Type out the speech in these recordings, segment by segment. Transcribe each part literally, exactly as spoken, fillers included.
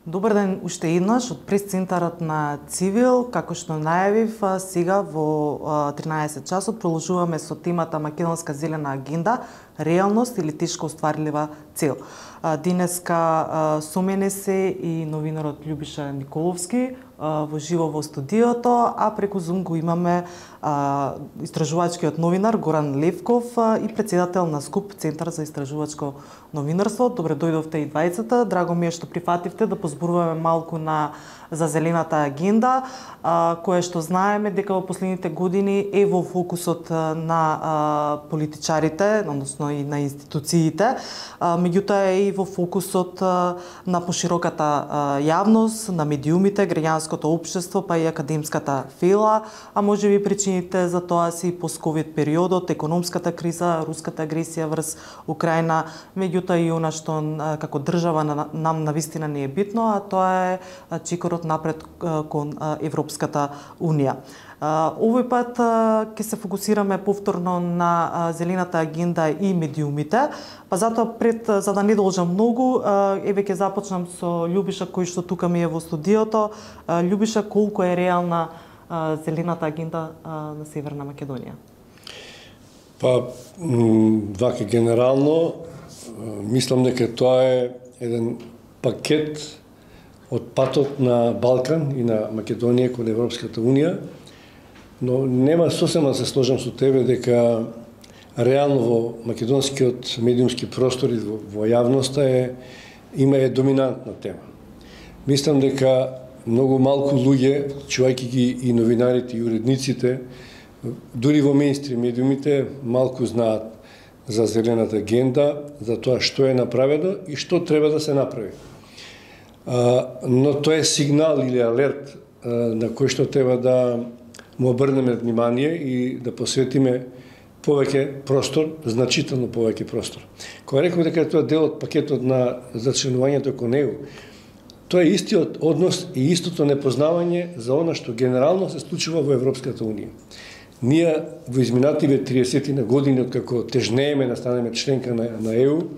Добар ден уште еднаш од прес-центарот на Цивил. Како што најавив, сега во тринаесет часот продолжуваме со темата Македонска зелена агенда, реалност или тешко остварлива цел. Денеска со мене се и новинарот Љубиша Николовски во живо во студиото, а преку Zoom го имаме истражувачкиот новинар Горан Левков и председател на СКУП, Центар за истражувачко новинарство. Добре дојдовте и двајцата. Драго ми е што прифативте да позборуваме малку на за зелената агенда, а, кое што знаеме дека во последните години е во фокусот на а, политичарите, односно и на институциите, а, меѓутоа е и во фокусот а, на пошироката а, јавност, на медиумите, граѓанското општество, па и академската фила, а може би причините за тоа се и постковид периодот, економската криза, руската агресија врз Украина, меѓутоа и она што а, како држава на, нам навистина не е битно, а тоа е а, чекорот напред кон Европската Унија. Овој пат ќе се фокусираме повторно на зелената агенда и медиумите, па затоа пред за да не должам многу, еве ќе започнам со Љубиша кој што тука ми е во студиото. Љубиша, колку е реална зелената агенда на Северна Македонија? Па, вака генерално, мислам дека тоа е еден пакет од патот на Балкан и на Македонија кон Европската Унија, но нема сосема да се сложам со тебе дека реално во македонскиот медиумски простор и во, во јавноста е има е доминантна тема. Мислам дека многу малку луѓе, чувајќи ги и новинарите и уредниците, дури во мејнстрим медиумите, малку знаат за зелената агенда, за тоа што е направено и што треба да се направи. Uh, но тоа е сигнал или алерт uh, на кој што треба да му обрнеме внимание и да посветиме повеќе простор, значително повеќе простор. Кога реков дека тоа е дел од пакетот на зачленувањето кон Е У, тоа е истиот однос и истото непознавање за она што генерално се случува во Европската Унија. Ние во изминативе триесет на години откако тежнееме да станеме членка на, на Е У,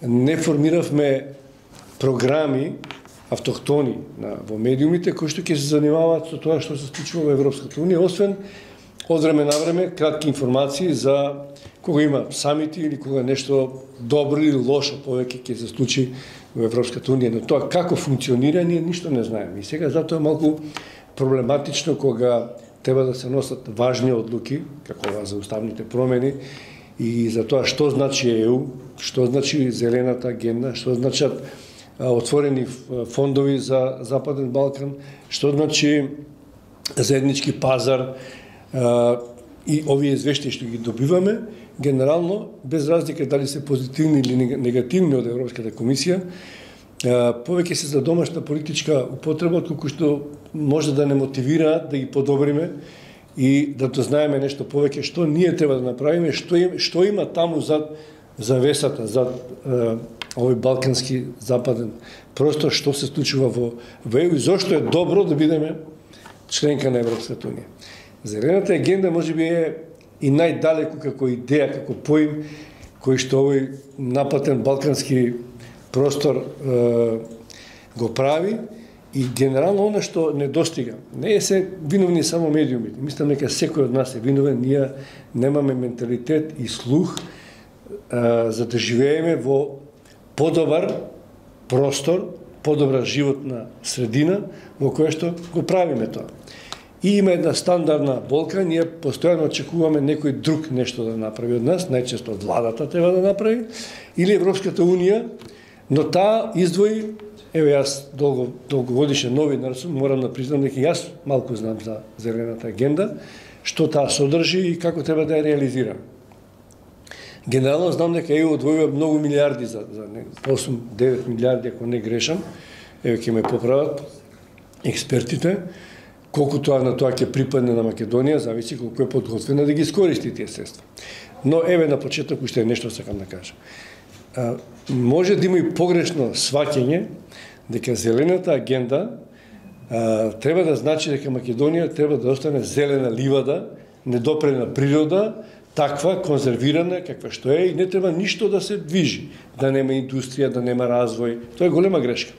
не формиравме програми автохтони на, во медиумите кои што ќе се занимаваат со тоа што се случува во Европската Унија, освен од време на време кратки информации за кога има самити или кога нешто добро или лошо повеќе ќе се случи во Европската Унија. Но тоа како функционира, ние ништо не знаеме. И сега затоа е малку проблематично кога треба да се носат важни одлуки, како ова за уставните промени, и за тоа што значи Е У, што значи зелената агенда, што значат отворени фондови за Западен Балкан, што значи заеднички пазар и овие извештаи што ги добиваме, генерално, без разлика дали се позитивни или негативни од Европската комисија, повеќе се за домашна политичка употреба, отколку што може да не мотивира да ги подобриме и да дознаеме нешто повеќе што ние треба да направиме, што, им, што има таму зад завесата, зад е, овој балкански западен простор, што се случува во, во Е У и зошто е добро да бидеме членка на Европската Унија. Зелената агенда можеби е и најдалеку како идеја, како поим, кој што овој напатен балкански простор е, го прави и генерално она што недостига. Не е се виновни само медиумите. Мислам дека секој од нас е виновен, ние немаме менталитет и слух за да живееме во подобар простор, подобра животна средина во која што го правиме тоа. И има една стандардна болка, ние постојано очекуваме некој друг нешто да направи од нас, најчесто владата треба да направи, или Европската Унија, но таа издвои, еве јас долго, долгогодишен новинар сум, морам да признам дека јас малку знам за зелената агенда, што таа содржи и како треба да ја реализира. Генерално знам дека Е У одвојува многу милиарди за, за осум-девет милиарди, ако не грешам, еве ќе ме поправат експертите, колку тоа на тоа ќе припадне на Македонија, зависи колку е подготвена да ги искористи тие средства. Но еве на почеток уште нешто сакам да кажам. А, може да има и погрешно сваќање дека зелената агенда а, треба да значи дека Македонија треба да остане зелена ливада, недопрена природа, таква, конзервирана, каква што е, и не треба ништо да се движи, да нема индустрија, да нема развој. Тоа е голема грешка.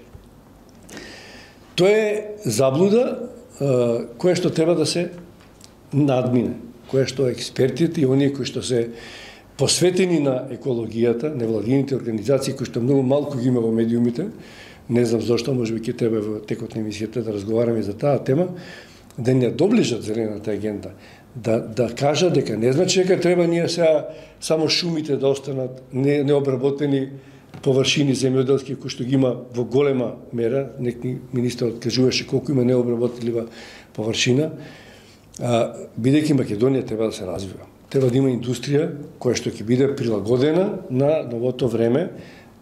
Тоа е заблуда која што треба да се надмине, која што експертите и оние кои што се посветени на екологијата, невладините организации кои што многу малку ги има во медиумите, не знам зошто, можеби ќе треба во текот на емисијата да разговараме за таа тема, да не доближат зелената агенда, да да кажат дека не значи дека треба ние сега само шумите да останат не, необработени површини земјоделски кои што ги има во голема мера, некој министер откажуваше колку има необработлива површина, а, бидејќи Македонија треба да се развива. Треба да има индустрија која што ќе биде прилагодена на новото време,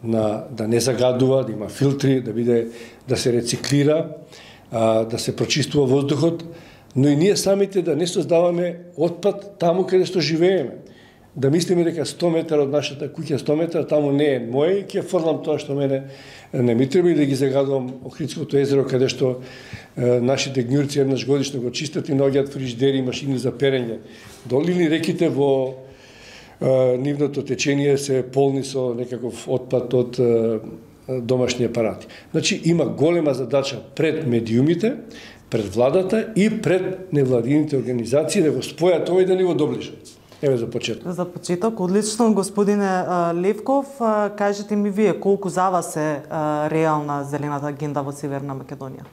на да не загадува, да има филтри, да биде да се рециклира, а, да се прочистува воздухот, но и ние самите да не создаваме отпад таму каде што живееме. Да мислиме дека сто метра од нашата куќа, сто метра таму не е мој, ќе фрлам тоа што мене не ми треба и да ги загадувам Охридското езеро каде што е, нашите гњурци еднаш годишно го чистат и наоѓаат фрижидери и машини за перење. Долили реките во е, нивното течение се полни со некаков отпад од е, домашни апарати. Значи има голема задача пред медиумите, пред владата и пред невладините организации да го спојат ова и да ни го доближат. Еве за почеток. За почеток, одлично, господине Левков, кажете ми вие колку за вас е реална зелената агенда во Северна Македонија?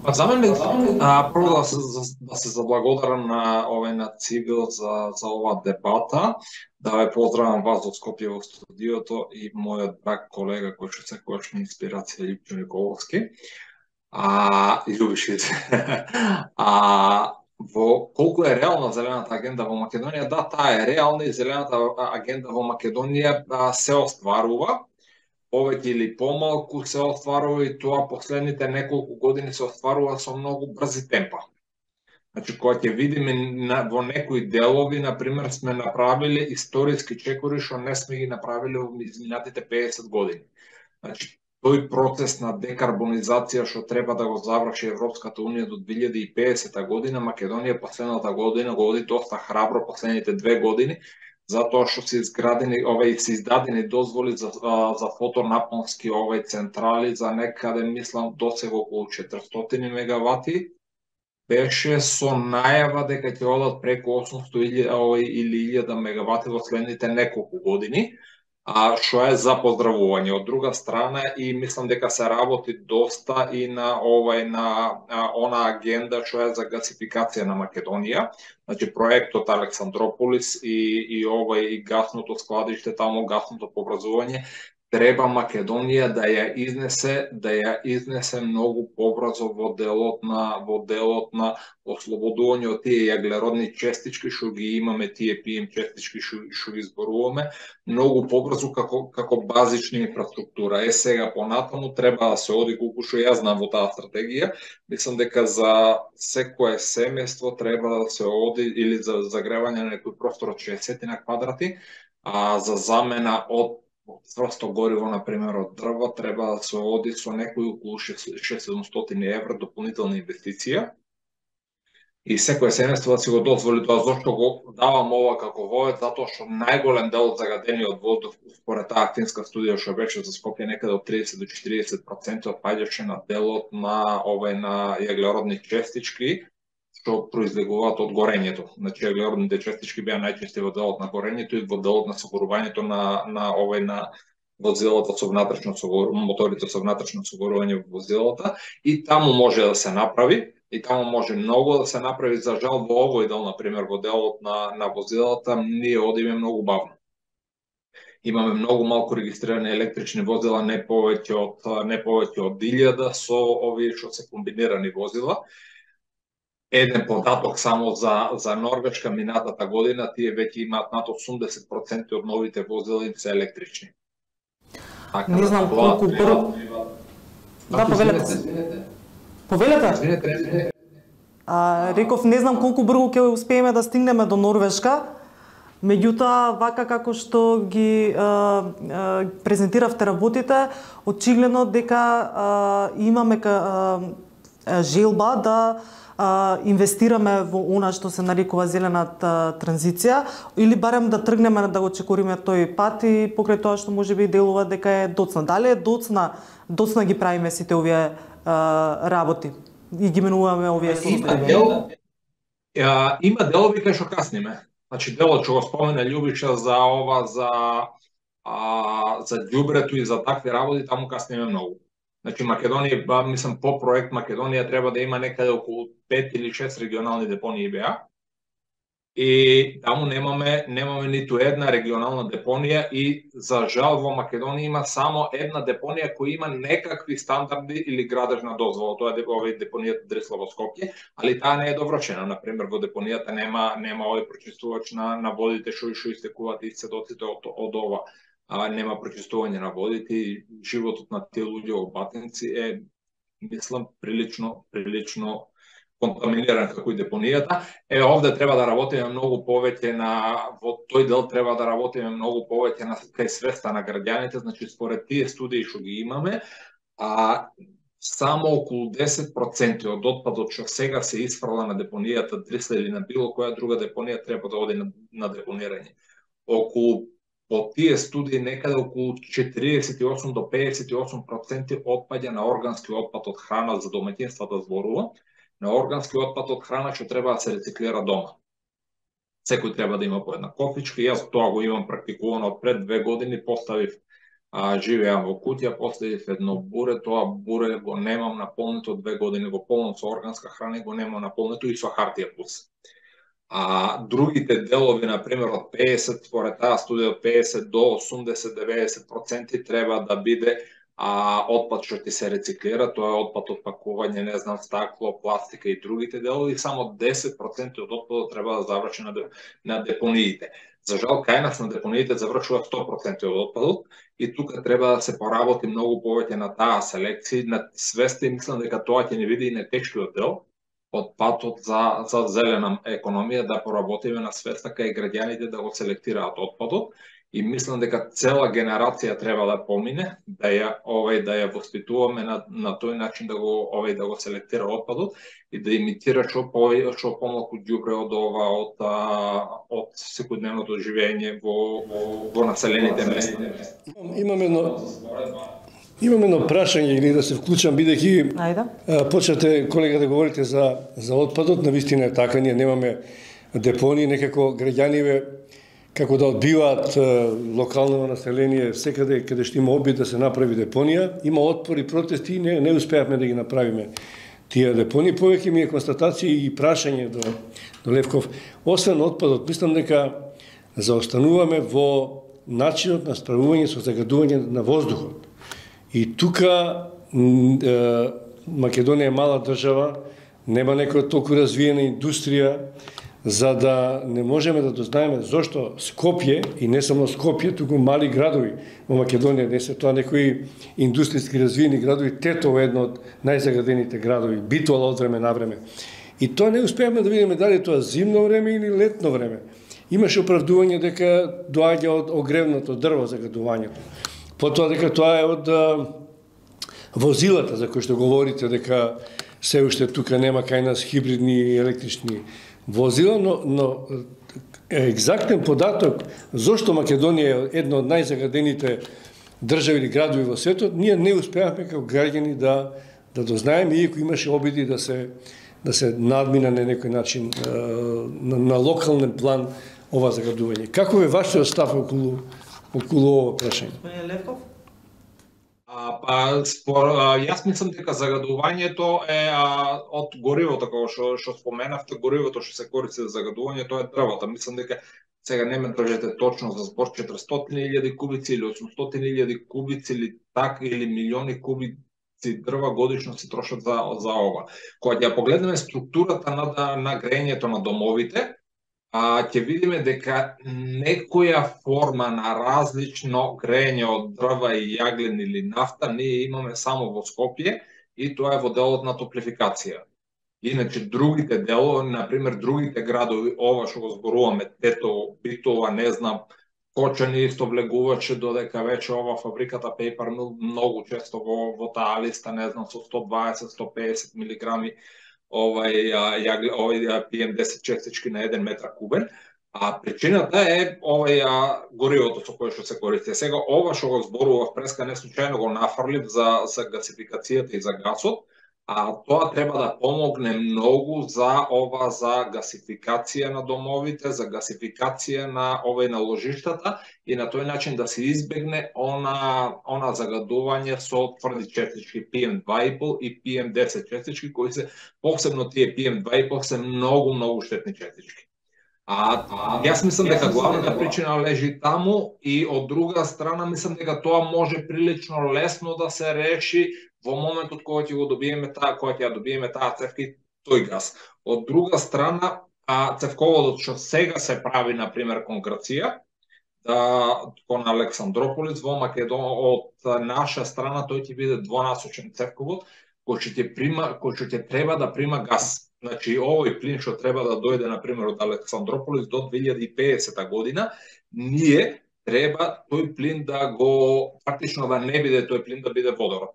Па за мене, а, прво да се, да се заблагодарам на овој на Цивил за, за оваа дебата, да ве поздравам вас од Скопје во студиото и мојот драг колега кој што секогаш ми инспирација Липчо Николовски. А, и Љубишиц. а, Во колку е реална зелената агенда во Македонија, да, таа е реална и зелената агенда во Македонија а, се остварува, повеќе или помалку се остварува и тоа последните неколку години се остварува со многу брзи темпа. Значи, кога ќе видиме на, во некои делови, например, сме направиле историски чекори што не сме ги направиле во изминатите пеесет години. Значи, тој процес на декарбонизација што треба да го заврши Европската унија до две илјади и педесета година, Македонија последната година го оди доста храбро последните две години, затоа што се изградени овај се издадени дозволи за за фотонапонски овај централи за некаде мислам досега околу четиристотини мегавати. Беше со најава дека ќе одат преку осумстотини или илјада мегавати во следните неколку години. А што е за поздравување. Од друга страна и мислам дека се работи доста и на овај на а, она агенда што е за гасификација на Македонија. Значи проектот Александрополис и и овај и гасното складиште таму, гасното пообразување, треба Македонија да ја изнесе, да ја изнесе многу побрзо во делот на во делот на ослободување од тие јаглеродни честички што ги имаме, тие пи ем честички што што ги зборуваме, многу побрзо како како базична инфраструктура. Е сега понатаму треба да се оди колку што јас знам во таа стратегија, мислам дека за секое семејство треба да се оди или за загревање на некој простор од шеесет на квадрати, а за замена од цврсто гориво, например, од дрво, треба да се оди со некои околу шестстотини евра дополнителна инвестиција. И секој семејство да си го дозволи тоа. Зошто го давам ова како вовет? Затоа што најголем дел од загадениот воздух, според таа финска студија што беше за Скопје, некаде од тридесет до четириесет проценти паѓаше на делот на овај на јаглеродни честички, што произлегуваат од горењето. Значи, јаглеродните честички беа најчести во делот на горењето и во делот на согорувањето на на овој на возилата со внатрешно согорување, моторите со внатрешно согорување во возилата, и таму може да се направи, и таму може многу да се направи. За жал во овој дел, например, во делот на на возилата, ние одиме многу бавно. Имаме многу малку регистрирани електрични возила, не повеќе од не повеќе од илјада со овие што се комбинирани возила. Еден податок само за за Норвешка минатата година, тие веќе имаат над осумдесет проценти од новите возила им се електрични. Така, не знам колку брзо. Да, повелете. Повелете? А, реков, не знам колку брзо ќе успееме да стигнеме до Норвешка. Меѓутоа, вака како што ги а, а, презентиравте работите, очигледно дека а, имаме а, желба да а, инвестираме во она што се нарекува зелената транзиција, или барем да тргнеме да го чекориме тој пат и покрај тоа што можеби делува дека е доцна. Дали е доцна, доцна ги правиме сите овие а, работи и ги менуваме овие има дел, а, има делови кај што касниме. Значи делот што го спомена Љубиша за ова за а, за ѓубрето и за такви работи, таму касниме многу. Значи Македонија, ба, мислам по проект Македонија треба да има некаде околу пет или шест регионални депонии БА. И таму немаме немаме ниту една регионална депонија и за жал во Македонија има само една депонија која има некакви стандарди или градежна дозвола. Тоа е овој депонијата Дрисло во Скопје, али таа не е довршена. Например, во депонијата нема нема овој прочистувач на на водите што што истекуваат исцедоците од од ова. А, нема прочистување на водите и животот на тие луѓе во Батинци е, мислам, прилично прилично контаминиран како и депонијата. Е, овде треба да работиме многу повеќе на во тој дел треба да работиме многу повеќе на кај свеста на граѓаните, значи според тие студии што ги имаме, а само околу десет проценти од отпадот што сега се исфрла на депонијата Дрисле или на било која друга депонија треба да оди на, на депонирање. Околу по тие студии некаде околу четириесет и осум до пеесет и осум проценти отпаѓа на органски отпад од храна за домаќинствата зборува, на органски отпад од храна што треба да се рециклира дома. Секој треба да има по една кофичка, јас тоа го имам практикувано од пред две години, поставив, а, живеам во куќа, поставив едно буре, тоа буре го немам наполнето две години, го полнам со органска храна и го немам наполнето и со хартија плюс. А другите делови, например, од пеесет, според таа студија, од пеесет до осумдесет до деветдесет проценти треба да биде а, отпад што ти се рециклира, тоа е отпад од пакување, не знам, стакло, пластика и другите делови, и само десет проценти од отпадот треба да заврши на, на депониите. За жал, кај нас на депониите завршува сто проценти од отпадот и тука треба да се поработи многу повеќе на таа селекција, на свеста, и мислам дека тоа ќе не биде и на тешкиот дел од патот за, за зелена економија, да поработиме на свеста кај граѓаните да го селектираат отпадот, и мислам дека цела генерација треба да помине, да ја овој да ја воспитуваме на, на тој начин да го овој да го селектира отпадот и да имитира што по што помалку ѓубре од ова од а, од секојдневното живење во во, во населените места. Имаме едно Имам едно прашање или да се вклучам, бидејќи почнете, колега, да говорите за за отпадот. Навистина е така, ние немаме депонии, некако граѓаниве како да одбиваат локално население секаде каде што има обид да се направи депонија, има отпор и протести и не не успеавме да ги направиме тие депонии. Повеќе ми е констатација и прашање до до Левков. Освен отпадот, мислам дека заостануваме во начинот на справување со загадување на воздухот. И тука Македонија е мала држава, нема некоја толку развиена индустрија, за да не можеме да дознаеме зошто Скопје, и не само Скопје, туку мали градови во Македонија, не се тоа некои индустријски развиени градови, Тетово е едно од најзагадените градови, Битола од време на време. И тоа не успеавме да видиме дали тоа зимно време или летно време. Имаше оправдување дека доаѓа од огревното дрво загадувањето. Потоа дека тоа е од а, возилата за кои што говорите, дека се уште тука нема кај нас хибридни и електрични возила, но, но екзактен податок зошто Македонија е една од најзагадените држави или градови во светот, ние не успеавме како граѓани да да дознаеме, иако имаше обиди да се да се надмина на некој начин на, на локален план ова загадување. Како е вашиот став околу околу ова прашање? Господин Левков? А, па, спор, а, јас мислам дека загадувањето е а, од горивото, како што што споменавте, горивото што се користи за загадување, тоа е дрвото. Мислам дека сега не ме држете точно за збор, четиристотини илјади кубици или осумстотини илјади кубици или така, или милиони кубици дрва годишно се трошат за за ова. Кога ќе погледнеме структурата на на грејењето на домовите, а ќе видиме дека некоја форма на различно грејење од дрва и јаглен или нафта ние имаме само во Скопје, и тоа е во делот на топлификација. Иначе другите делови, например другите градови, ова што го зборуваме, Тетово, Битола, не знам, Кочани исто влегуваше додека вече ова фабриката Paper Mill многу често во, во таа листа, не знам, со сто дваесет до сто песет милиграми овај, јагле, овај пи ем десет честички на еден метар кубен. А причината е овај горивото со кое што се користи. Сега ова што го зборував преска не случајно го нафрлив за, за гасификацијата и за гасот, а тоа треба да помогне многу за ова за гасификација на домовите, за гасификација на овој на ложиштата и на тој начин да се избегне она она загадување со тврди честички пи ем два и пол и пи ем десет честички кои се посебно тие пи ем два и пол се многу многу штетни честички. А, а јас мислам дека главната причина лежи таму и од друга страна мислам дека тоа може прилично лесно да се реши во моментот кога ќе го добиеме таа, кога ќе ја добиеме таа цевка и тој газ. Од друга страна, а цевководот што сега се прави на пример кон Грција, да кон Александрополис во Македонија од наша страна тој ќе биде двонасочен цевковод кој ќе прима, кој ќе треба да прима газ. Значи, овој плин што треба да дојде, например, од Александрополис до две илјади и педесета година, ние треба тој плин да го, практично да не биде тој плин, да биде водород.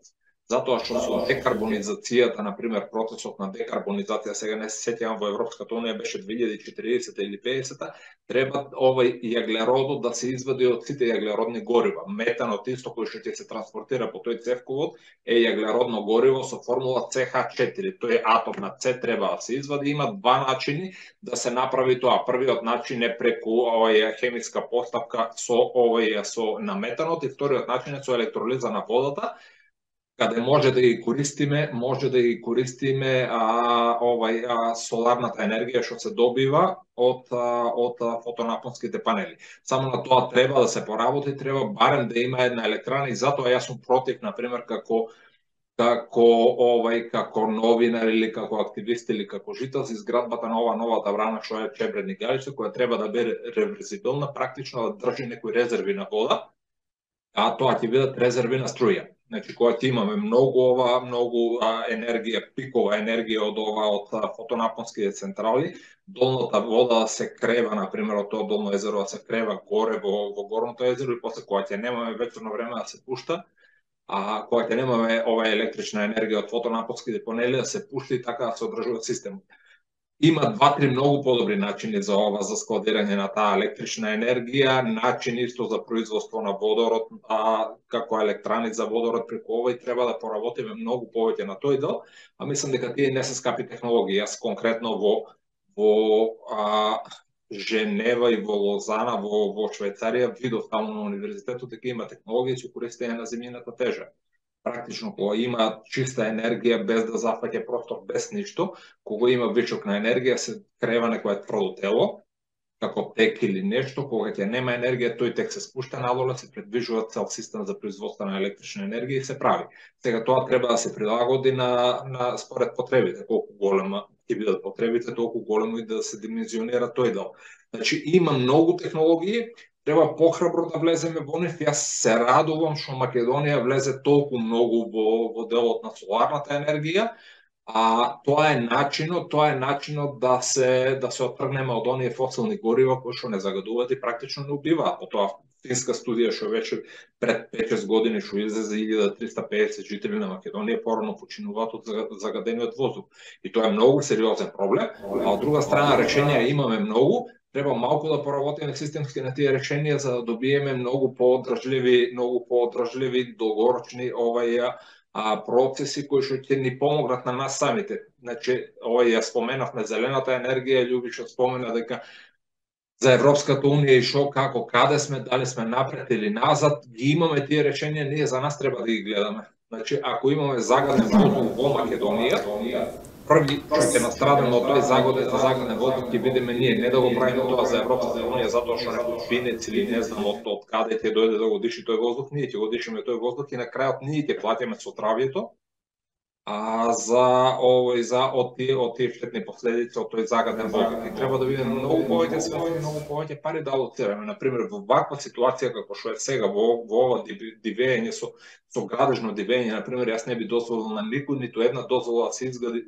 Затоа што со декарбонизацијата, например, процесот на декарбонизација, сега не се сеќавам, во Европската унија беше две илјади и четиридесета или педесета, треба овој јаглеродот да се извади од сите јаглеродни горива. Метанот исто кој што ќе се транспортира по тој цевковод е јаглеродно гориво со формула Це Ха четири. Тој атом на С треба да се извади. Има два начини да се направи тоа. Првиот начин е преку овој хемиска поставка со овој со на метанот и вториот начин е со електролиза на водата, каде може да ги користиме, може да ги користиме а, овај а, соларната енергија што се добива од а, од а, фотонапонските панели. Само на тоа треба да се поработи, треба барем да има една електрана и затоа јас сум против, на пример, како како овај како новинар или како активист или како жител за изградбата на ова новата брана што е Чебредни Галиче, која треба да биде реверзибилна, практично да држи некои резерви на вода, а тоа ќе бидат резерви на струја. Значи, кога ќе имаме многу ова, многу а, енергија, пикова енергија од ова, од фотонапонските централи, долната вода се крева, например, од тоа долно езеро да се крева горе во, во горното езеро и после кога ќе немаме ветерно време да се пушта, а кога ќе немаме ова електрична енергија од фотонапонските панели да се пушти и така да се одржува системот. Има два-три многу подобри начини за ова, за складирање на таа електрична енергија, начин исто за производство на водород, а, како електрани за водород преку ова и треба да поработиме многу повеќе на тој дел, а мислам дека тие не се скапи технологии. Јас конкретно во во а, Женева и во Лозана, во, во Швајцарија, видов таму на универзитетот дека има технологии со користење на земјината тежа. Практично, кога има чиста енергија без да зафаќа простор, без ништо, кога има вичок на енергија, се крева некое тврдо тело, како тек или нешто, кога ќе нема енергија, тој тек се спушта надоле, се предвижува цел систем за производство на електрична енергија и се прави. Сега тоа треба да се прилагоди на, на според потребите, колку голема ќе бидат потребите, толку големо и да се димензионира тој дел. Значи, има многу технологии, треба похрабро да влеземе во нив. Јас се радувам што Македонија влезе толку многу во, во делот на соларната енергија, а тоа е начинот, тоа е начинот да се да се оттргнеме од оние фосилни горива кои што не загадуваат и практично не убиваат. По тоа финска студија што вече пред пет-шест години што излезе илјада триста педесет жители на Македонија порано починуваат од загадениот воздух. И тоа е многу сериозен проблем, а од друга страна реченија имаме многу. Треба малку да поработиме системски на тие решенија за да добиеме многу поодржливи, многу поодржливи долгорочни овај а, процеси кои што ќе ни помогнат на нас самите. Значи, овај ја споменавме зелената енергија, Љубиша спомена дека за Европската унија и шо, како, каде сме, дали сме напред или назад, ги имаме тие решенија, ние за нас треба да ги гледаме. Значи, ако имаме загаден воздух во Македонија, први што ќе настрадаме од тој загаден, загаден воздух ќе бидеме ние, не да го правиме тоа за Европската унија затоа што некој финец или не знам од, од каде ќе дојде да го диши тој воздух, ние ќе го дишиме тој воздух и на крајот ние ќе платиме со травјето, а за овој за од тие од тие штетни последици од тој загаден воздух. И треба да видиме многу повеќе светови, многу повеќе пари да алоцираме. На пример, во ваква ситуација како што е сега во во ова дивење со со градежно дивење, на пример, јас не би дозволил на никој ниту една дозвола да се изгради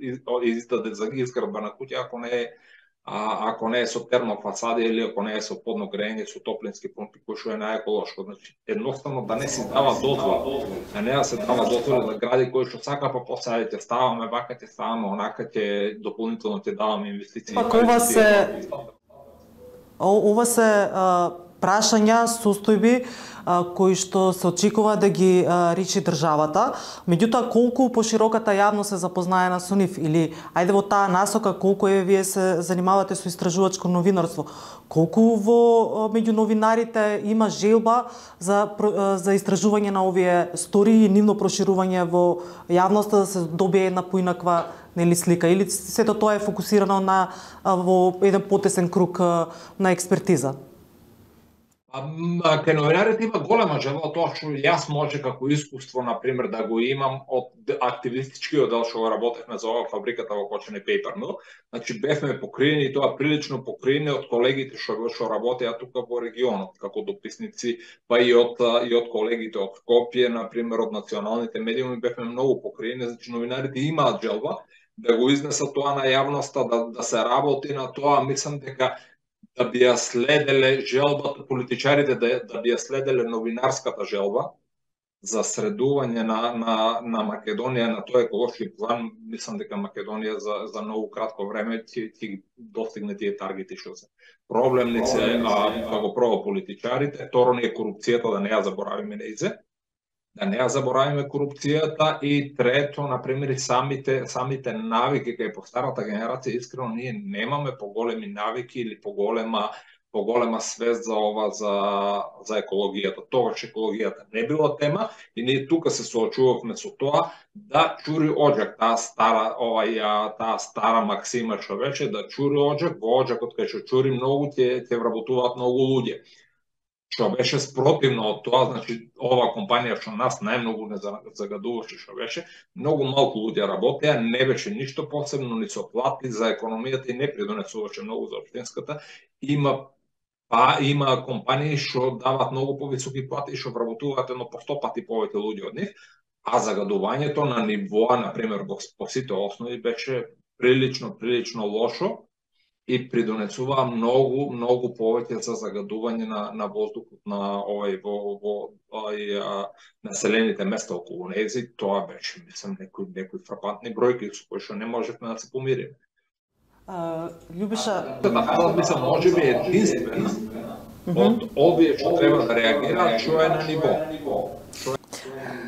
издаде за изградба на куќа ако не е а ако не е со термофасади или ако не е со подно грејење со топлински помпи, кој што е најеколошко. Значи, едноставно да не се дава дозвола, да не да се дава дозвола да гради кој што сака, па после ќе ставаме вака, ќе ставаме онака, ќе дополнително ќе даваме инвестиции. Па ова се ова се а, прашања, состојби а, кои што се очекува да ги а, речи државата. Меѓутоа, колку пошироката јавност се запознаена со нив, или ајде во таа насока, колку е вие се занимавате со истражувачко новинарство, колку во меѓу новинарите има желба за за истражување на овие истории и нивно проширување во јавноста, да се добие една поинаква нели слика, или сето тоа е фокусирано на во еден потесен круг на експертиза? Кај новинарите има голема желба, тоа што јас може како искуство, например, да го имам од активистичкиот дел што работевме за ова фабриката во Кочани Paper Mill. Значи бевме покриени, тоа прилично покриени од колегите што што работеа тука во регионот како дописници, па и од и од колегите од Скопје, например, од националните медиуми бевме многу покриени. Значи новинарите имаат желба да го изнесат тоа на јавноста, да да се работи на тоа. Мислам дека да би ја следеле желбата, политичарите да, да би ја следеле новинарската желба за средување на, на, на Македонија на тој еколошки план. Мислам дека Македонија за, за многу кратко време ќе ќе достигне тие таргети што се проблемници, а како прво политичарите, второ не е корупцијата, да не ја заборавиме неизе. Да не ја заборавиме корупцијата, и трето, например, и самите самите навики кај постарата генерација, искрено ние немаме поголеми навики или поголема поголема свест за ова за за екологијата. Тогаш екологијата не била тема и ние тука се соочувавме со тоа да чури оџак, таа стара овај таа стара максима што рече да чури оџак, во оџакот кај што чури многу ќе ќе вработуваат многу луѓе. Што беше спротивно од тоа, значи ова компанија што нас најмногу не загадуваше, што беше, многу малку луѓе работеа, не беше ништо посебно ни со плати за економијата и не придонесуваше многу за општинската. Има па има компании што дават многу повисоки плати и што вработуваат едно по сто пати повеќе луѓе од нив, а загадувањето на нивоа, например, по сите основи беше прилично прилично лошо и придонесува многу многу повеќе за загадување на на воздухот на овај во во овај населените места околу нези. Тоа беше, мислам, некои некои фрапантни бројки со кои што не можевме да се помириме. Uh, Љубиша, да, мислам, можеби единствено од овие што треба да реагираат, што е на ниво.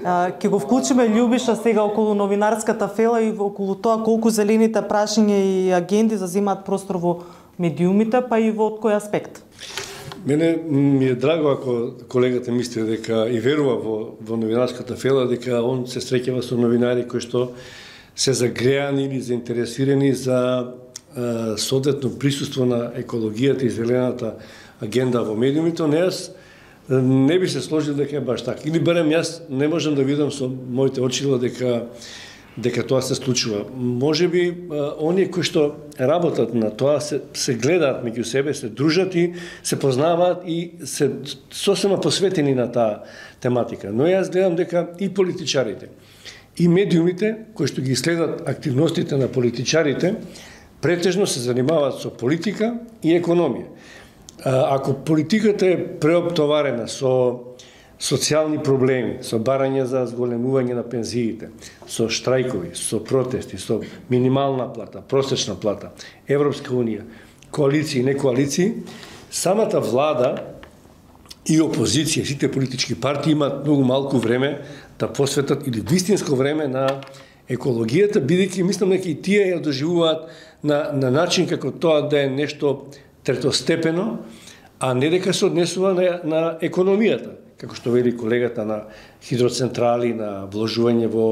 Ќе го вклучиме Љубиша сега околу новинарската фела и околу тоа колку зелените прашања и агенди зазимаат простор во медиумите, па и во од кој аспект? Мене ми е драго ако колегата мисли дека и верува во, во новинарската фела, дека он се среќава со новинари кои што се загреани или заинтересирани за е, соодветно присуство на екологијата и зелената агенда во медиумите. Не, јас не би се сложил дека е баш така. Или барем јас не можам да видам со моите очила дека дека тоа се случува. Можеби оние кои што работат на тоа се, се гледаат меѓу себе, се дружат и се познаваат и се сосема посветени на таа тематика. Но јас гледам дека и политичарите, и медиумите кои што ги следат активностите на политичарите, претежно се занимаваат со политика и економија. Ако политиката е преоптоварена со социјални проблеми, со барање за зголемување на пензиите, со штрајкови, со протести, со минимална плата, просечна плата, Европска унија, коалиции и не коалиции, самата влада и опозиција, сите политички партии имаат многу малку време да посветат или вистинско време на екологијата, бидејќи мислам дека и тие ја доживуваат на, на начин како тоа да е нешто третостепено, а не дека се однесува на, на економијата, како што вели колегата, на хидроцентрали, на вложување во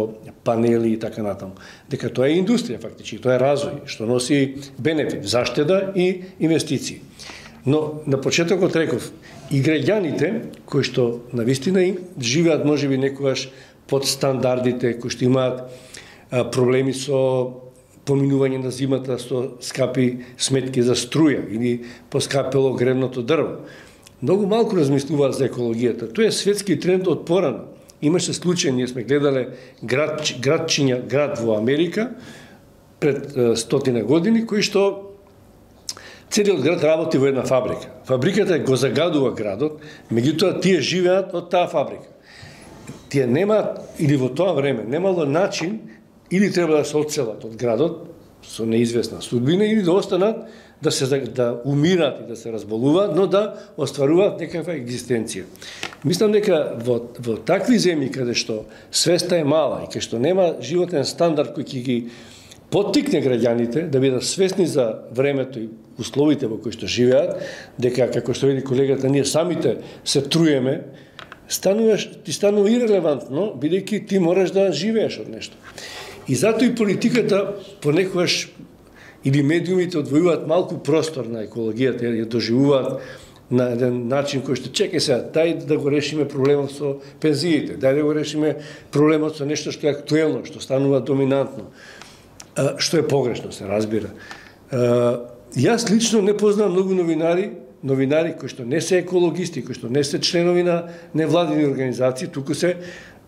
панели и така натаму. Дека тоа е индустрија фактички, тоа е развој, што носи бенефит, заштеда и инвестиции. Но на почетокот реков, и граѓаните кои што навистина им живеат можеби некогаш под стандардите, кои што имаат а, проблеми со поминување на зимата со скапи сметки за струја или поскапело гревното дрво. Многу малку размислуваат за екологијата. Тоа е светски тренд од порано. Имаше случај, ние сме гледале град, градчиња, град во Америка пред стотина години, кои што целиот град работи во една фабрика. Фабриката го загадува градот, меѓутоа тие живеат од таа фабрика. Тие немаат, или во тоа време, немало начин, или треба да се одселат од градот, со неизвестна судбина, или да останат, да се да умираат и да се разболуваат, но да остваруваат некаква екзистенција. Мислам дека во, во такви земји каде што свеста е мала и каде што нема животен стандард кој ќе ги поттикне граѓаните да бидат свесни за времето и условите во кои што живеат, дека, како што види колегата, ние самите се труеме, стануваш, ти станува ирелевантно, бидејќи ти мораш да живееш од нешто. И затоа и политиката понекогаш или медиумите одвојуваат малку простор на екологијата, ја доживуваат на еден начин кој што чекај сега, дај да го решиме проблемот со пензиите, дај да го решиме проблемот со нешто што е актуелно, што станува доминантно, што е погрешно, се разбира. Јас лично не познам многу новинари, новинари кои што не се екологисти, кои што не се членови на невладини организации, туку се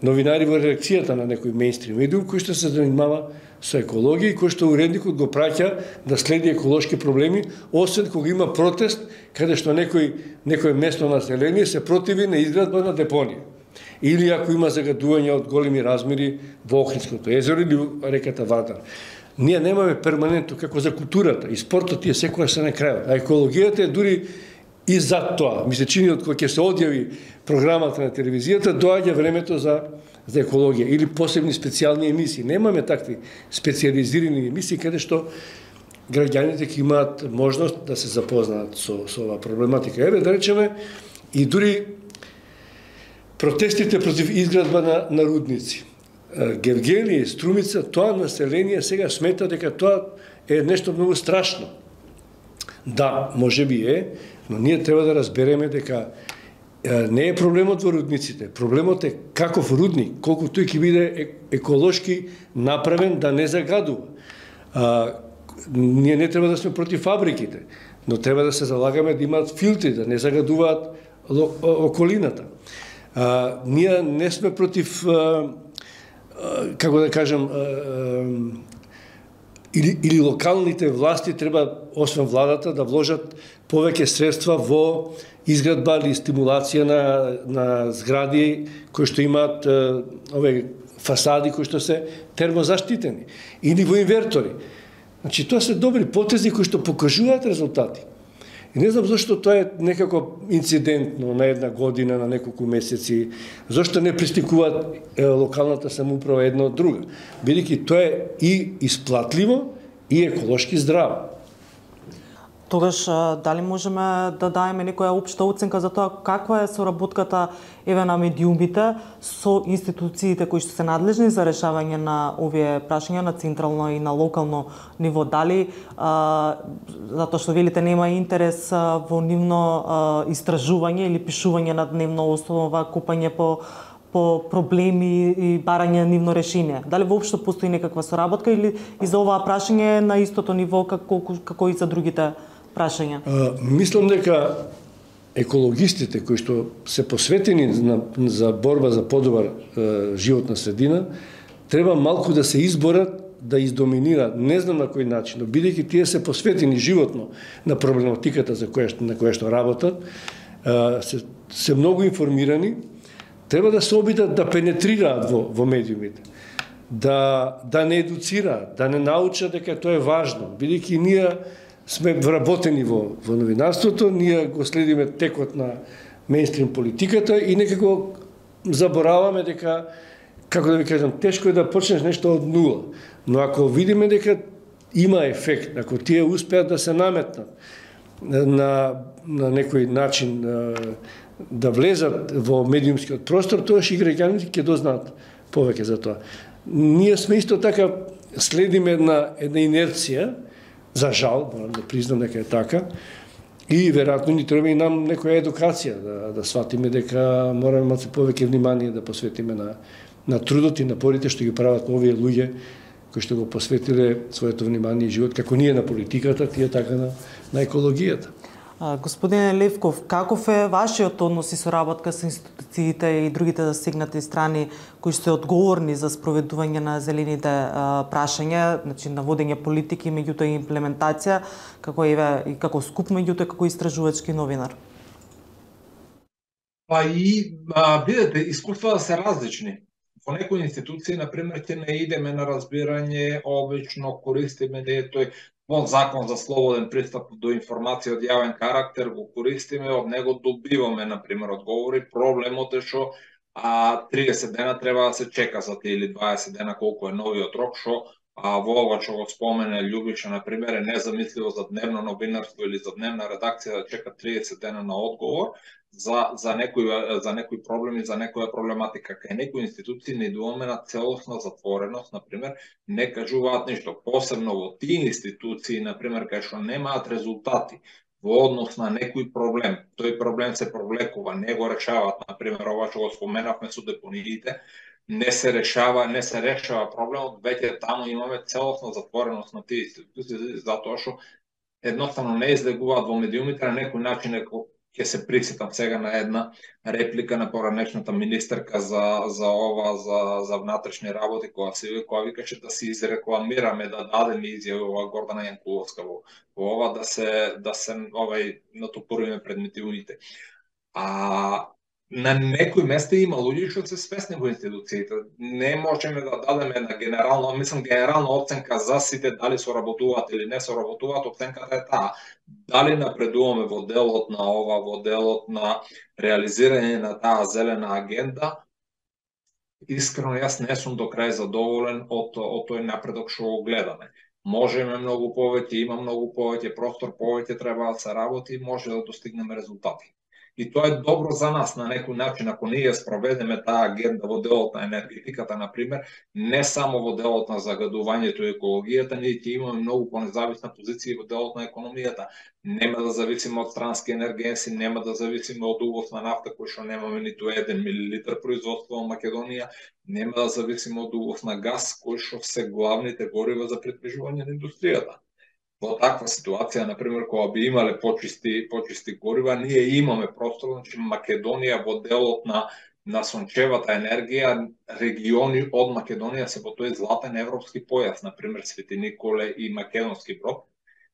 новинари во редакцијата на некој мејнстрим медиум кој што се занимава со екологија и кој што уредникот го праќа да следи еколошки проблеми, освен кога има протест каде што некој некој местно население се противи на изградба на депонија. Или ако има загадување од големи размери во Охридското езеро или реката Вардар. Ние немаме перманентно, како за културата и спортот тие секогаш се на крајот, а екологијата е дури и за тоа. Ми се чини од кога ќе се одјави програмата на телевизијата, доаѓа времето за за екологија или посебни специјални емисии. Немаме такви специализирани емисии каде што граѓаните ќе имаат можност да се запознаат со со оваа проблематика. Еве да речеме и дури протестите против изградба на, на рудници. Гевгелија и Струмица, тоа население сега смета дека тоа е нешто многу страшно. Да, може би е, но ние треба да разбереме дека не е проблемот во рудниците. Проблемот е каков рудник, колку тој ќе биде еколошки направен да не загадува. А, ние не треба да сме против фабриките, но треба да се залагаме да имаат филтри, да не загадуваат околината. А, ние не сме против, а, а, како да кажем, а, а, или, или локалните власти треба, освен владата, да вложат повеќе средства во изградба или стимулација на, на згради кои што имаат а, ове фасади кои што се термозаштитени, или во инвертори. Значи, тоа се добри потези кои што покажуваат резултати. И не знам зашто тоа е некако инцидентно на една година, на неколку месеци, зашто не пристикуваат е, локалната самоуправа една од друга, бидејќи тоа е и исплатливо и еколошки здраво. Тогаш, дали можеме да даеме некоја општа оценка за тоа каква е соработката еве на медиумите со институциите кои што се надлежни за решавање на овие прашања на централно и на локално ниво? Дали, а, затоа што велите нема интерес а, во нивно а, истражување или пишување на дневна основа, копање по по проблеми и барање нивно решение? Дали воопшто постои некаква соработка или и за оваа прашање на истото ниво како како и за другите прашања? А, мислам дека екологистите кои што се посветени на, за борба за подобар е, животна средина треба малку да се изборат да издоминираат, не знам на кој начин, бидејќи тие се посветени животно на проблематиката за која на која што работат, е, се, се многу информирани, треба да се обидат да пенетрираат во, во медиумите, да, да не едуцираат, да не научат дека тоа е важно, бидејќи ние сме вработени во, во новинарството, ние го следиме текот на мејнстрим политиката и некако забораваме дека, како да ви кажам, тешко е да почнеш нешто од нула. Но ако видиме дека има ефект, ако тие успеат да се наметнат на, на некој начин да влезат во медиумскиот простор, тоа и граѓаните ќе дознаат повеќе за тоа. Ние сме исто така следиме една, една инерција, за жал, морам да признам дека е така, и веројатно ни треба и нам некоја едукација, да, да сватиме дека мораме малку повеќе внимание да посветиме на, на трудот и напорите што ги прават овие луѓе кои што го посветиле своето внимание и живот, како ние на политиката, тие така на, на екологијата. Господине Левков, каков е вашиот однос и соработка со институциите и другите засегнати страни кои се одговорни за спроведување на зелените а, прашања, значи наводење политики, меѓутоа и имплементација, како и, и како скуп, меѓутоа како истражувачки новинар? Па и, а, видете, искуствата се различни. Во некои институции, например, ќе не идеме на разбирање, обично користиме не тој закон за слободен пристап до информација од јавен карактер, го користиме, од него добиваме, например, одговори. Проблемот е што а, триесет дена треба да се чека за тие или дваесет дена колку е новиот рок, што а, во ова што го спомене Љубиша, например, е незамисливо за дневно новинарство или за дневна редакција да чека триесет дена на одговор за за некои за некои проблеми, за некоја проблематика. Кај некои институции не идуваме на целосна затвореност, например, не кажуваат ништо, посебно во тие институции, например, кај што немаат резултати во однос на некој проблем. Тој проблем се провлекува, не го решаваат, например, ова што го споменавме со депониите, не се решава, не се решава проблемот, веќе таму имаме целосна затвореност на тие институции, затоа што едноставно не излегуваат во медиумите на некој начин. Ќе се присетам сега на една реплика на поранешната министерка за за ова за за внатрешни работи, која се која викаше да се изрекламираме, да дадеме изјава Гордана Јанкуловска во, во ова да се да се овај натопуриме пред медиумите. А на некои места има луѓе што се свесни во институциите. Не можеме да дадеме на генерално, мислам генерална оценка за сите дали соработуваат или не соработуваат, оценката е таа. Дали напредуваме во делот на ова, во делот на реализирање на таа зелена агенда? Искрено јас не сум до крај задоволен од од тој напредок што го гледаме. Можеме многу повеќе, има многу повеќе простор, повеќе треба да се работи, може да достигнеме резултати. И тоа е добро за нас на некој начин, ако ние спроведеме таа агенда во делот на енергетиката, например, не само во делот на загадувањето и екологијата, ние ќе имаме многу понезависна позиција во делот на економијата. Нема да зависиме од странски енергенси, нема да зависиме од увоз на нафта, кој што немаме ниту еден милилитар производство во Македонија, нема да зависиме од увоз на газ, кој што се главните горива за придвижување на индустријата. Во таква ситуација, например, кога би имале почисти почисти горива, ние имаме простор, значи Македонија во делот на на сончевата енергија, региони од Македонија се во тој златен европски појас, например Свети Николе и Македонски Брод,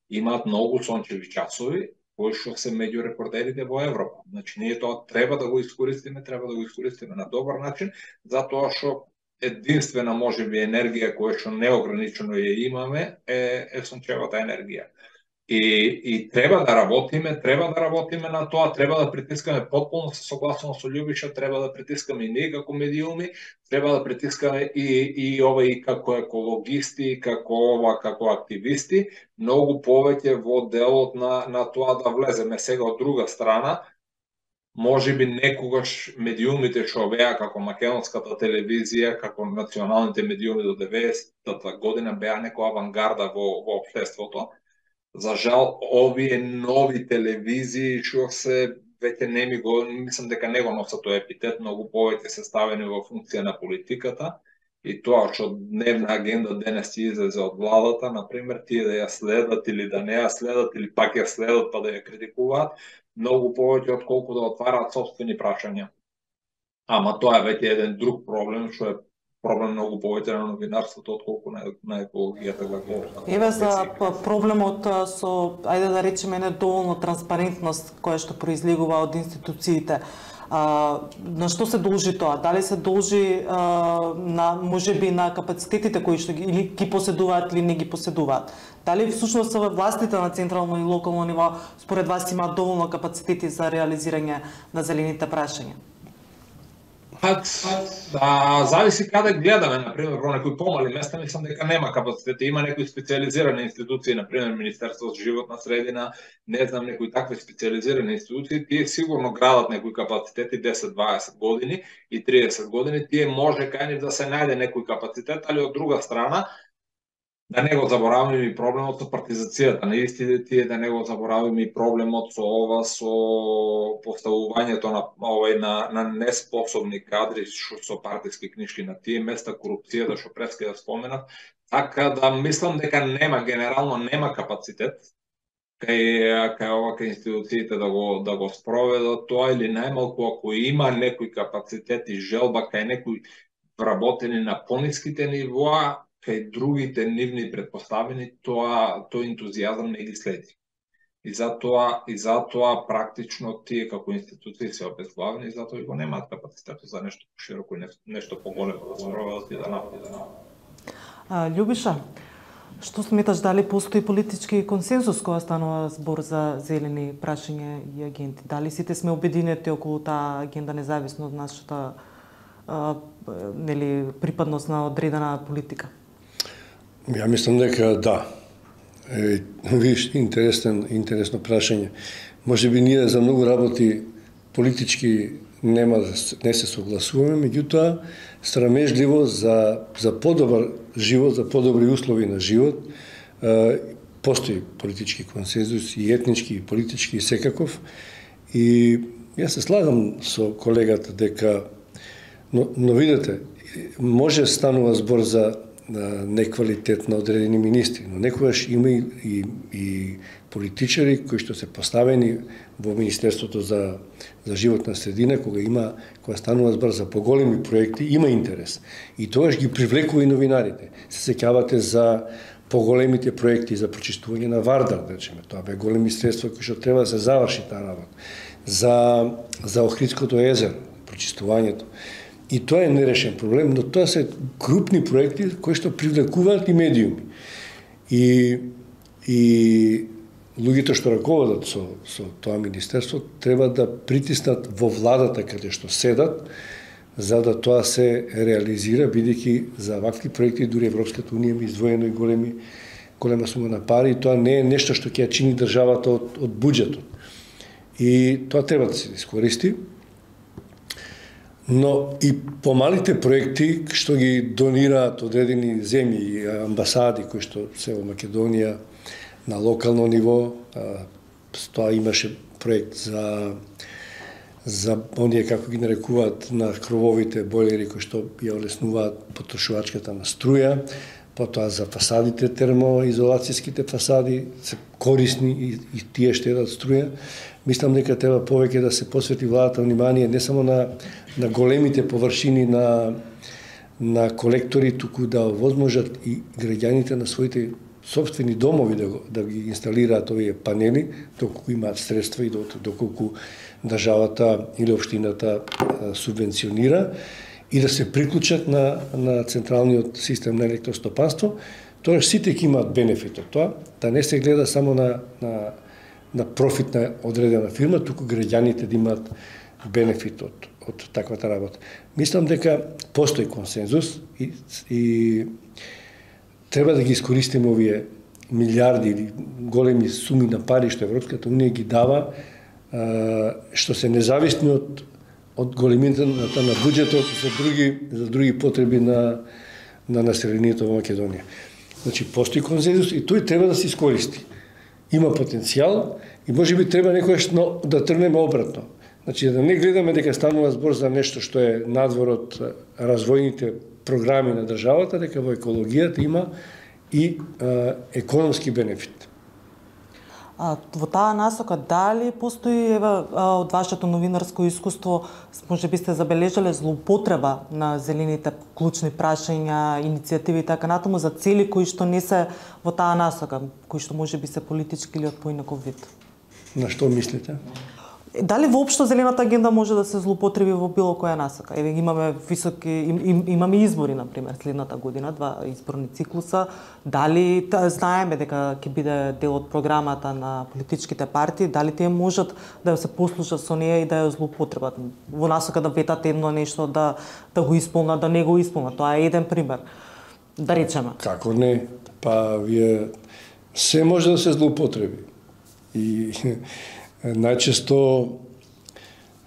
имаат многу сончеви часови, кои што се меѓу рекордерите во Европа. Значи ние тоа треба да го искористиме, треба да го искористиме на добар начин, затоа што единствена можеби енергија која што неограничено ја имаме е, е сончевата енергија. И, и треба да работиме, треба да работиме на тоа, треба да притискаме потполно се согласно со Љубиша, треба да притискаме и ние како медиуми, треба да притискаме и и ова и како екологисти, како ова како активисти, многу повеќе во делот на на тоа да влеземе. Сега од друга страна, можеби некогаш медиумите што беа како македонската телевизија, како националните медиуми до деветдесетата година беа некоја авангарда во во општеството. За жал, овие нови телевизии што се веќе не ми го, мислам дека не го носат тој епитет, многу повеќе се ставени во функција на политиката и тоа што дневна агенда денес ќе излезе од владата, например, тие да ја следат или да не ја следат или пак ја следат па да ја критикуваат, многу повеќе од колку да отвараат собствени прашања. Ама тоа е веќе еден друг проблем, што е проблем многу повеќе на новинарството од колку на, на екологијата главно. Еве за проблемот со, ајде да речеме, недоволно транспарентност која што произлегува од институциите. А, на што се должи тоа? Дали се должи а, на можеби на капацитетите кои што ги, или ги поседуваат или не ги поседуваат? Дали всушност властите на централно и локално ниво според вас имаат доволно капацитети за реализирање на зелените прашања? Да, зависи каде гледаме, например, во некои помали места, мислам дека нема капацитети, има некои специализирани институции, например Министерство за животна средина, не знам, некои такви специализирани институции, тие сигурно градат некои капацитети десет-дваесет години и триесет години, тие може кај нив да се најде некој капацитет, али од друга страна, да не го забораваме и проблемот со партизацијата на истите тие, да не го забораваме и проблемот со ова, со поставувањето на овај на, на неспособни кадри шо, со партиски книшки на тие места, корупцијата што преска да споменав, така да мислам дека нема, генерално нема капацитет кај кај овака институциите да го да го спроведат тоа, или најмалку ако има некој капацитет и желба кај некој вработени на пониските нивоа, кај другите нивни предпоставени, тоа тој ентузијазам не ги следи. И затоа и затоа практично тие како институции се обезглавени, и затоа и го немаат капацитет за нешто пошироко и нешто поголемо да спроведат и да направат. Љубиша, што сметаш, дали постои политички консензус кога станува збор за зелени прашања и агенти? Дали сите сме обединети околу таа агенда независно од нашата а, нели припадност на одредена политика? Ја мислам дека да. Е, виж, интересен, интересно прашање. Може би ние за многу работи политички нема не се согласуваме, меѓутоа страмежливо за за подобар живот, за подобри услови на живот, е, постои политички консензус и етнички и политички и секаков. И јас се слагам со колегата дека но, но видете, може станува збор за неквалитет на одредени министри, но некогаш има и, и, и политичари кои што се поставени во Министерството за, за животна средина, кога има, кога станува збор за поголеми проекти, има интерес. И тогаш ги привлекува и новинарите. Се сеќавате за поголемите проекти за прочистување на Вардар, да речеме, тоа бе големи средства кои што треба да се заврши таа работа. За за Охридското езеро, прочистувањето. И тоа е нерешен проблем, но тоа се крупни проекти кои што привлекуваат и медиуми. И и луѓето што раководат со со тоа министерство треба да притиснат во владата каде што седат, за да тоа се реализира, бидејќи за вакви проекти дури Европската унија има издвоено и големи голема сума на пари, и тоа не е нешто што ќе ја чини државата од од буџетот. И тоа треба да се искористи. Но и помалите проекти што ги донираат одредени земји и амбасади кои што се во Македонија на локално ниво, тоа имаше проект за за оние, како ги нарекуваат, на крововите бойлери кои што ја олеснуваат потрошувачката на струја, потоа за фасадите, термоизолацијските фасади се корисни и, и тие штедат струја. Мислам дека треба повеќе да се посвети владата внимание не само на на големите површини на на колектори, туку да возможат и граѓаните на своите сопствени домови да, да ги инсталираат овие панели, доколку имаат средства и доколку државата или општината субвенционира, и да се приклучат на, на централниот систем на електростопанство, тоа сите ќе имаат бенефит од тоа, да не се гледа само на, на, на профит на одредена фирма, туку граѓаните да имаат бенефит од, од таквата работа. Мислам дека постои консензус и, и треба да ги искористиме овие милиарди или големи суми на пари што Европската унија ги дава, што се независни од од големината на буџетот за други за други потреби на на населението во Македонија. Значи постои консензус и тој треба да се искористи. Има потенцијал и можеби треба некогаш да тргнеме обратно. Значи да не гледаме дека станува збор за нешто што е надвор од развојните програми на државата, дека во екологијата има и а, економски бенефит. А, во таа насока, дали постои, ева, од вашето новинарско искуство, може би сте забележале злоупотреба на зелените клучни прашања, иницијативи и така натаму за цели кои што не се во таа насока, кои што може би се политички или од поинаков вид? На што мислите? Дали воопшто зелената агенда може да се злоупотреби во било која насока? Еве имаме високи им, им, имаме избори на пример следната година, два изборни циклуса. Дали та, знаеме дека ќе биде дел од програмата на политичките партии, дали тие можат да се послужат со неја и да ја злоупотребат во насока да ветат едно нешто, да да го исполнат, да не го исполнат. Тоа е еден пример. Да речеме. Како не? Па вие се може да се злоупотреби. И најчесто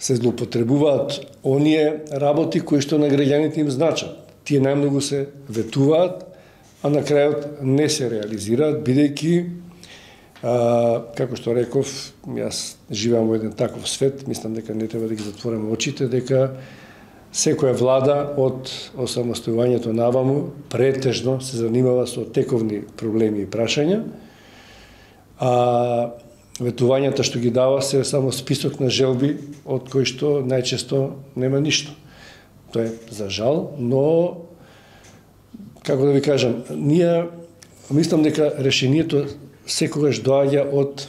се злоупотребуваат оние работи кои што на граѓаните им значат. Тие најмногу се ветуваат, а на крајот не се реализираат, бидејќи, а, како што реков, јас живеам во еден таков свет, мислам дека не треба да ги затвориме очите, дека секоја влада од осамостојувањето наваму претежно се занимава со тековни проблеми и прашања, а ветувањата што ги дава се само список на желби од кои што најчесто нема ништо. Тоа е за жал, но како да ви кажам, ние мислам дека решението секогаш доаѓа од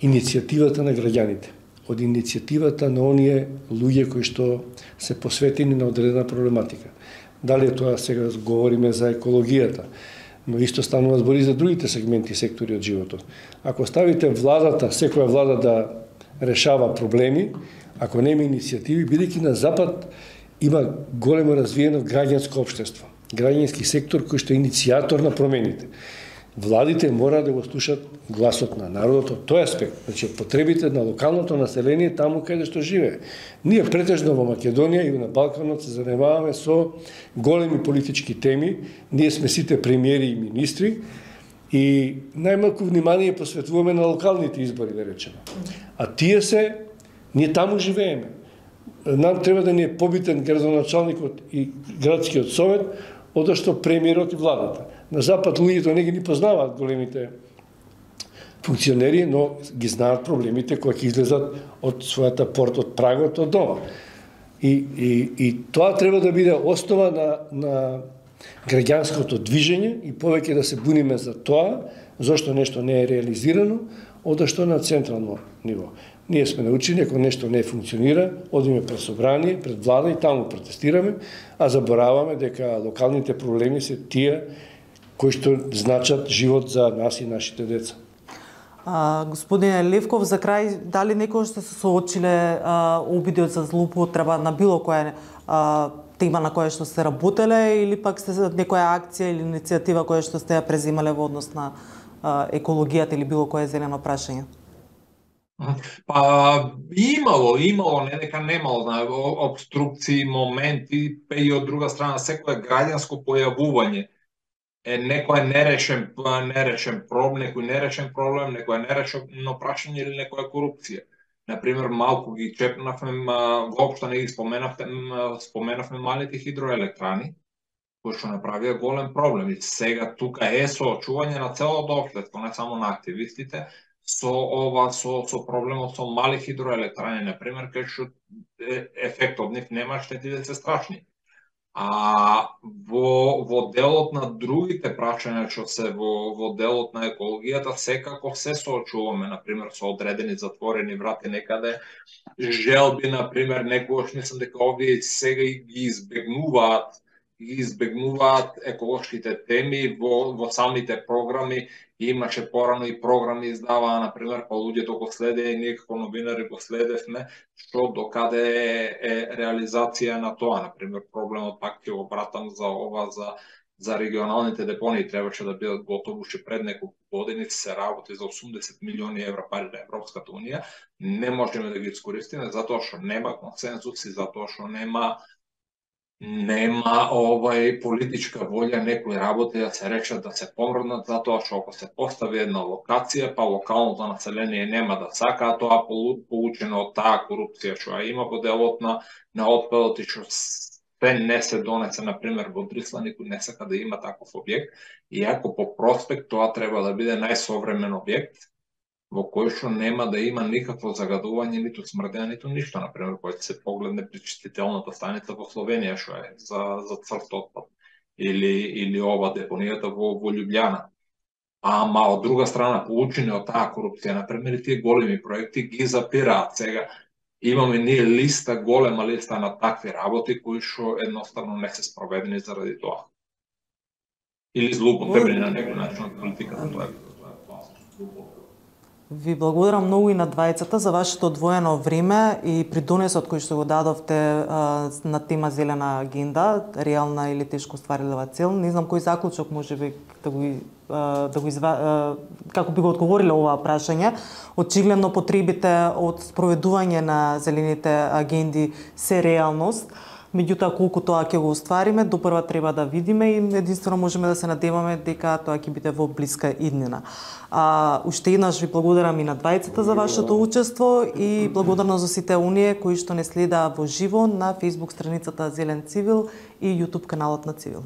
иницијативата на граѓаните, од иницијативата на оние луѓе кои што се посветени на одредена проблематика. Дали тоа сега говориме за екологијата, но исто станува збори за другите сегменти и сектори од животот. Ако ставите владата, секоја влада да решава проблеми, ако нема иницијативи, бидејќи на Запад има големо развиено граѓанско општество, граѓански сектор кој што е иницијатор на промените. Владите мора да го слушат гласот на народот од тој аспект, значи потребите на локалното население таму каде што живее. Ние претежно во Македонија и на Балканот се занимаваме со големи политички теми, ние сме сите премиери и министри и најмалку внимание посветуваме на локалните избори, да речеме. А тие се, ние таму живееме. Нам треба да ни е побитен градоначалникот и градскиот совет, одошто премиерот и владата. На Запад луѓето не ги ни познаваат големите функционери, но ги знаат проблемите кои ќе излезат од својата порта, од прагот, од дома. И, и, и тоа треба да биде основа на, на граѓанското движење и повеќе да се буниме за тоа, зашто нешто не е реализирано, одошто на централно ниво. Ние сме научени, ако нешто не функционира, одиме пред собрание, пред влада и таму протестираме, а забораваме дека локалните проблеми се тие кои што значат живот за нас и нашите деца. А, господине Левков, за крај, дали некој што се соочиле а, обиди за злоупотреба на било која а, тема на која што сте работеле или пак сте некоја акција или иницијатива која што сте ја преземале во однос на а, екологијата или било кое зелено прашање? Па имало, имало, не дека немало, на обструкции, моменти, па и од друга страна секое граѓанско појавување е некој нерешен, нерешен проблем, некој нерешен проблем, некој нерешено прашање или некоја корупција. Например, малку ги чепнавме, воопшто не ги споменавме, споменавме малите хидроелектрани, кои што направија голем проблем. И сега тука е соочување на целото општество, не само на активистите, со ова со со проблемот со мали хидроелектрани, например, кај што ефектот од нив нема, штетите се страшни. А во во делот на другите прашања што се во во делот на екологијата секако се соочуваме, например, со одредени затворени врати некаде, желби, например, некогаш мислам дека овие сега ги избегнуваат ги избегнуваат еколошките теми во во самите програми. Имаше порано и програми издаваа, например, па луѓето го следеа и ние како новинари го следевме, што докаде е, е реализација на тоа. Например, проблемот пак ќе го братам за ова, за, за регионалните депонии, требаше да бидат готови уште пред неколку години, се работи за осумдесет милиони евра пари на Европската унија. Не можеме да ги искористиме затоа што нема консензус и затоа што нема нема овај политичка волја некои работи да се речат да се помрднат, затоа што ако се постави една локација, па локалното население нема да сака, а тоа получено од таа корупција што има во делот на, на отпадот и што се не се донесе, например, во Дрисла, никој не сака да има таков објект, иако по проспект тоа треба да биде најсовремен објект, во кој што нема да има никакво загадување, ниту смрдеа, ниту ништо. Например, кој се погледне пречистителната станица во Словенија, што е за, за црт отпад, или, или ова депонијата во, во Љубљана. Ама од друга страна, получени од таа корупција, например, тие големи проекти ги запираат. Сега имаме ние листа, голема листа на такви работи, кои што едноставно не се спроведени заради тоа. Или злоупотребени на некој начин од политиката, тоа е. Ви благодарам многу и на двајцата за вашето одвоено време и придонесот кој што го дадовте а, на тема зелена агенда, реална или тешко остварлива цел. Не знам кој заклучок можеби да го а, да го изва... а, како би го одговориле оваа прашање. Очигледно потребите од спроведување на зелените агенди се реалност. Меѓутоа, колку тоа ќе го оствариме, допрва треба да видиме и единствено можеме да се надеваме дека тоа ќе биде во блиска иднина. А, уште еднаш ви благодарам и на двајцата за вашето учество и благодарност за сите оние кои што не следаа во живо на Facebook страницата Зелен Цивил и YouTube каналот на Цивил.